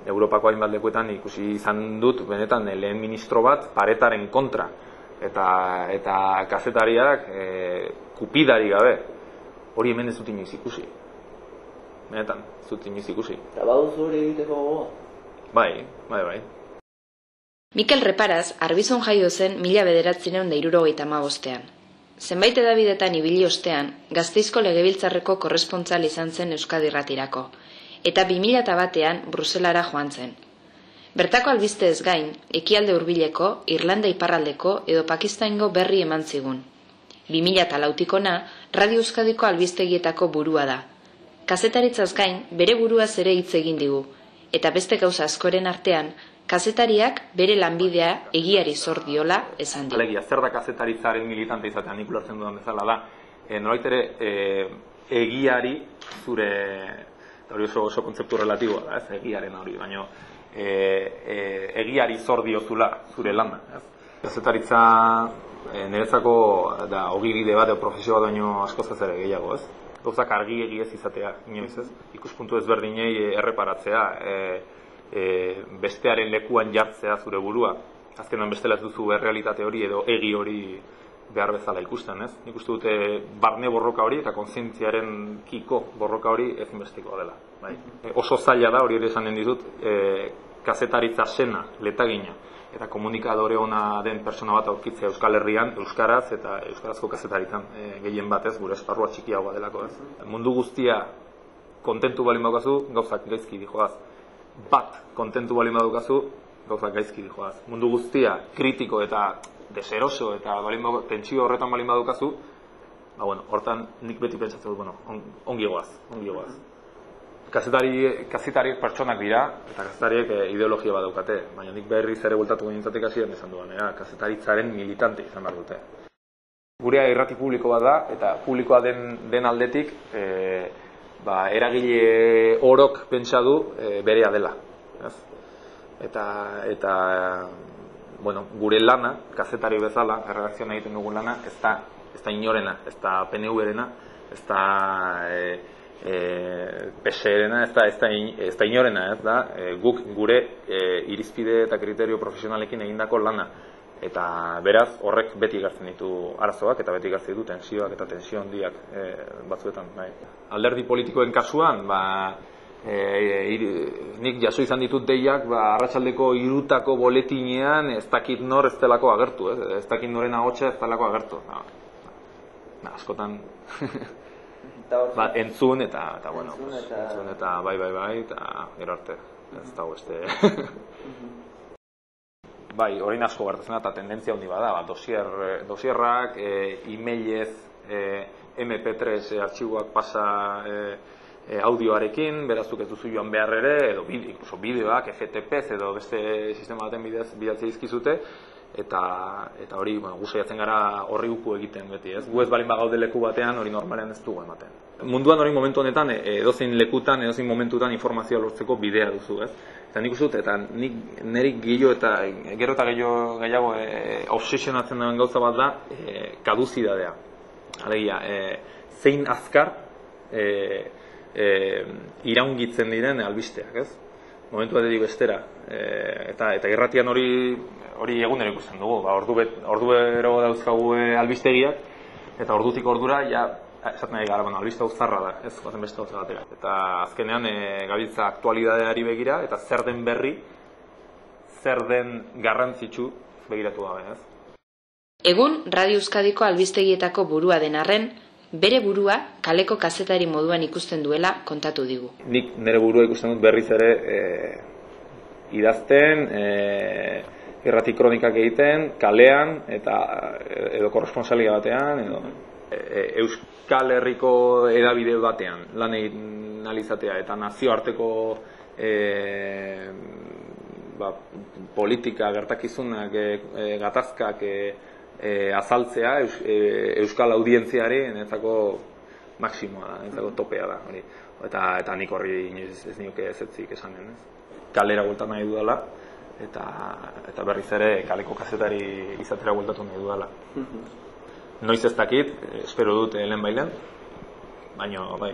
Europako hainbat lekuetan ikusi izan dut benetan lehen ministro bat paretaren kontra eta kazetariak kupidari gabe. Hori hemen ez dut inoiz ikusi. Benetan, ez dut inoiz ikusi. Eta baduzu hori egiteko gogoa? Bai. Mikel Reparaz Arbizon jaio zen 1975ean. Zenbait edabidetan ibili ostean, Gasteizko Legebiltzarreko korrespontsal izan zen Euskadi Irratirako, eta 2001ean Bruselara joan zen. Bertako albisteez gain, Ekialde Hurbileko, Irlanda Iparraldeko edo Pakistango berri eman zigun. 2004tik ona, Radio Euskadiko albistegietako burua da. Kazetaritzaz gain, bere buruaz ere hitz egin digu, eta beste gauza askoren artean, kazetariak bere lanbidea egiari zor diola esan dio. Alegia, zer da kazetaritzaren militante izatea, nik ulertzen dudan bezala da. Nolait ere, egiari zure, hori oso kontzeptu relatiboa da, ez, egiaren hori, baina egiari zor diozula zure lana. Kazetaritza niretzako da ogibide bat, profesio bat baino askoz ez ere gehiago, ez? Gauzak argi egiez izatea, inoiz, ez? Ikuspuntu ezberdinei erreparatzea, bestearen lekuan jartzea zure burua. Azkenan bestela ez duzu errealitate hori edo egi hori behar bezala ikusten, ez? Nik uste dute barne borroka hori eta kontzientziaren kiko borroka hori ezinbestekoa dela. Bai? Oso zaila da, hori ere esanen ditut, kazetaritza sena, letagina, eta komunikadore ona den persona bat aurkitzea Euskal Herrian, euskaraz eta euskarazko kazetaritzan gehien batez, gure esparrua txikiagoa delako, ez? Mundu guztia kontentu balin badukazu, gauzak gaizki dijoaz. Bat kontentu balin badukazu, gauzak gaizki dijoaz. Mundu guztia kritiko eta deseroso eta tentsio horretan balin badukazu, hortan nik beti pentsatzen dut, ongi goaz. Kazetariek pertsonak dira, eta kazetariek ideologia bat daukate, baina nik berriz ere bultatuko nintzatek hasieran esan duan, kazetaritzaren militante izan behar dute. Gurea irrati publiko bat da, eta publikoa den aldetik, eragile orok pentsa du berea dela. Eta gure lana, kazetari bezala, erredakzioan egiten dugun lana, ez da inorena, ez da PNV-rena, ez da PSE-rena, ez da inorena, ez da guk gure irizpide eta kriterio profesionalekin egindako lana. Eta beraz, horrek beti ekartzen ditu arazoak eta beti ekartzen ditu tensioak eta tensio handiak batzuetan. Alderdi politikoen kasuan, nik jaso izan ditut deiak arratsaldeko 3:00 boletinean ez dakit nor ez delako agertu, ez dakit noren ahotsa ez delako agertu. Askotan entzun eta bai, eta gero arte, ez dago beste. Bai, hori asko gertatzen da, eta tendentzia handi bada, dosierrak, e-mailez, MP3 artxiboak pasa audioarekin, berazuk ez duzu joan behar ere, edo incluso bideoak, FTP edo beste sistema baten bidez bidatzea izkizute, eta hori, gu saiatzen gara horri uku egiten beti, ez? Gu ez balin bagaude leku batean, hori normalean ez dugu ematen. Munduan hori momentu honetan, edozein lekutan, edozein momentutan informazioa lortzeko bidea duzu, ez? Eta nik uste dut, eta niri gero eta gehiago obsesionatzen duen gauza bat da, kaduzidadea. Alegia, zein azkar iraungitzen diren albisteak, ez? Momentu batetik bestera. Eta irratian hori egunero ikusten dugu. Ordubero dauzkagu albistegiak, eta ordutik ordura, esaten nahi gara, albiste hau zarra da, ez bazen beste hau zagatera. Eta azkenean gabiltza aktualidadeari begira, eta zer den berri, zer den garrantzitsu begiratu gabe, ez? Egun, Radio Euskadiko albistegietako burua den arren, bere burua kaleko kazetari moduan ikusten duela kontatu digu. Nik nire burua ikusten dut berriz ere idazten, irrati kronikak egiten, kalean, edo korresponsalia batean, edo Euskal Herriko edabide batean lan egin izatea eta nazioarteko politika, gertakizunak, gatazkak azaltzea Euskal audientziari netzako maksimoa da, netzako topea da. Eta nik horri ez nioke ezetzik esanen. Kalera bueltan nahi dudala, eta berriz ere kaleko kazetari izatera bueltatu nahi dudala. Noiz ez dakit, espero dut lehen bailen, baina bai.